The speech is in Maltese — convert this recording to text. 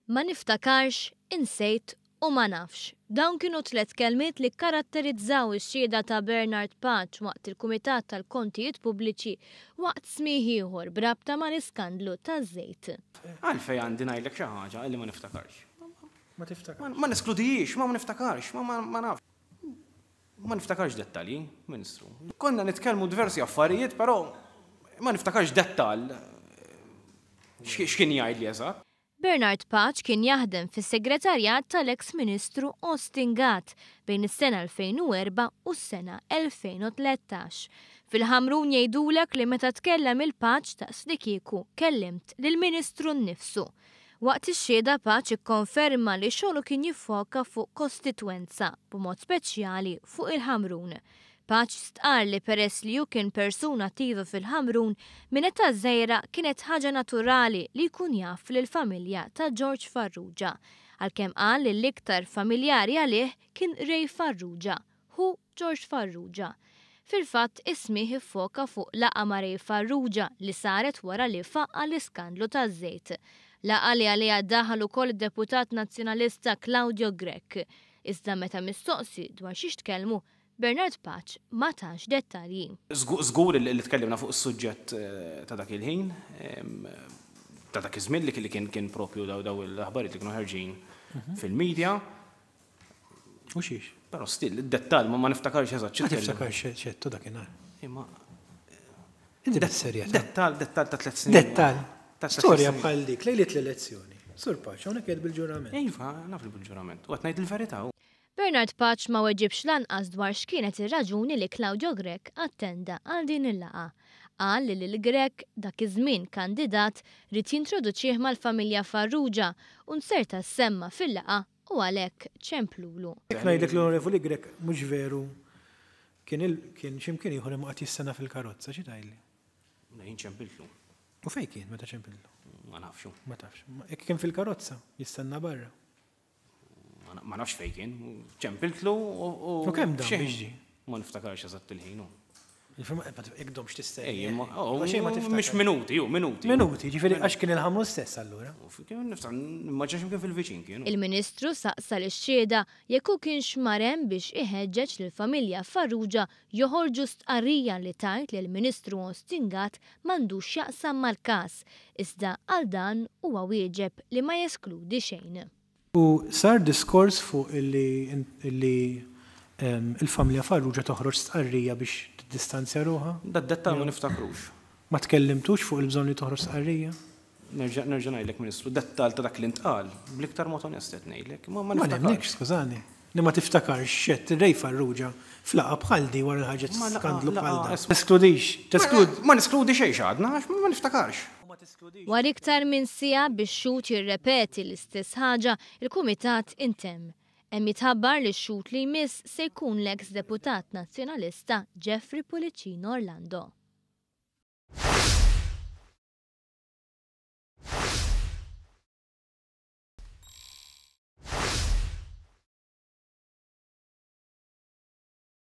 Ma niftakarx, insejt u ma nafx. Dawn kienu tlett kelmiet li kkaratterizzaw ix-xhieda ta' Bernard Pace waqt il-Kumitat tal-Kontijiet Pubbliċi waqt smigħ ieħor b'rabta mal-iskandlu taż-żejt. Għalfejn għandi ngħidlek xi ħaġa li ma niftakarx? Ma tiftakarx. Ma neskludihiex, ma niftakarx, ma nafx. Ma niftakarx dettalji, Ministru. Konna nitkellmu diversi affarijiet, però ma niftakarx dettall x'kien jgħidli eżatt. Bernard Pace kien jaħdem fis-Segretarjat tal-eks Ministru Austin Gatt bejn is-sena 2004 u s-sena 2013. Fil-Ħamrun jgħidulek li meta tkellem il-Pace daqslikieku kellimt lill-Ministru nnifsu. Waqt ix-xhieda Pace ikkonferma li xogħlu kien jiffoka fuq kostitwenza, b'mod speċjali fuq il-Ħamrun. Pace stqarr li peress li hu kien persuna attiva fil-Ħamrun minn età żgħira kienet ħaġa naturali li jkun jaf lill-familja ta' George Farrugia, għalkemm qal li l-iktar familjari għalih kien Ray Farrugia, ħu George Farrugia. Fil-fatt, is-smigħ iffoka fuq laqgħa ma' Ray Farrugia li saret wara li faqqa' l-iskandlu taż-żejt. Laqgħa li għaliha daħal ukoll id-deputat Nazzjonalista Claudio Grech. Iżda meta mistoqsi dwar xiex tkellmu, Bernard Pace ma tax dettalji. Żgur li tkellimna fuq is-suġġett ta' dak il-ħin, ta' dak iż-żmien li kien kien propju daw l-aħbarijiet li kienu ħerġin fil-media. U xiex? Però still, id-dettall ma niftakarx eżatt Ma tiftakarx x'għedtu dakinhar. Imma Inti bis-serjetà. Dettall, dettall ta' tlett snin. Dettall. Storja bħal dik lejliet l-elezzjoni. Sur Pace, hawnhekk qiegħed bil-ġurament. Iva, naf li bil-ġurament. U qed ngħid il-verità. Bernard Pace ma weġibx lanqas dwar x'kienet ir-raġuni li Claudio Grech attenda għal din il-laqgħa. Qal li lil Grech, dak iż-żmien kandidat, ried jintroduċih mal-familja Farrugia u nzerta ssemma fil-laqgħa u għalhekk ċemplulu. Jekk ngħidlek l-Onorevoli Grech mhux veru kien il kien xi mkien ieħor imma qagħad jistenna fil-karozza, xi tgħidli? Jien ċempiltlu. U fejn kien meta ċempiltlu? Ma nafx. Ma tafx. Jekk kien fil-karozza, jistenna barra. Ma nafx fejn kien, ċempiltlu u. U kemm dam biex ġie? Ma niftakarx eżatt il-ħin. Jekk domx tistenni. Ej, oh, mhux minuti, ju, minuti. Minuti, ġifieri għax kien il-ħamru stess allura. Niftakar, imma kien fil-viċin kienu. Il-Ministru saqsa lix-xhieda jekk hu kienx mar hemm biex iħeġġeġ lill-familja Farrugia joħorġu stqarrija li tgħid li l-Ministru Austin Gatt m'għandux x'jaqsam mal-każ, iżda għal dan huwa wieġeb li ma jeskludi xejn. U sar diskors fuq illi illi il-familja Farrugia toħroġ stqarrija biex tiddistanzja ruħha? Dad-dettall ma niftakrux. Ma tkellimtux fuq il-bżonn li toħroġ stqarrija? Nerġa' nerġa' ngħidlek Ministru, dettall ta' dak li ntqal, bl-iktar mod onest qed ngħidlek, ma Ma nemmnikx, skużani, li ma tiftakarx x'għedt Ray Farrugia f'laqgħa bħal di wara li ħarġet skandlu bħal dan. Teskludix, tesklud. Ma neskludi xejn x'għadna għax ma niftakarx. Wara iktar minn siegħa bix-xhud jirrepeti l-istess ħaġa, il-Kumitat intemm. Hemm jitħabbar li x-xhud li jmiss se jkun l-eks Deputat Nazzjonalista Jeffrey Pullicino Orlando.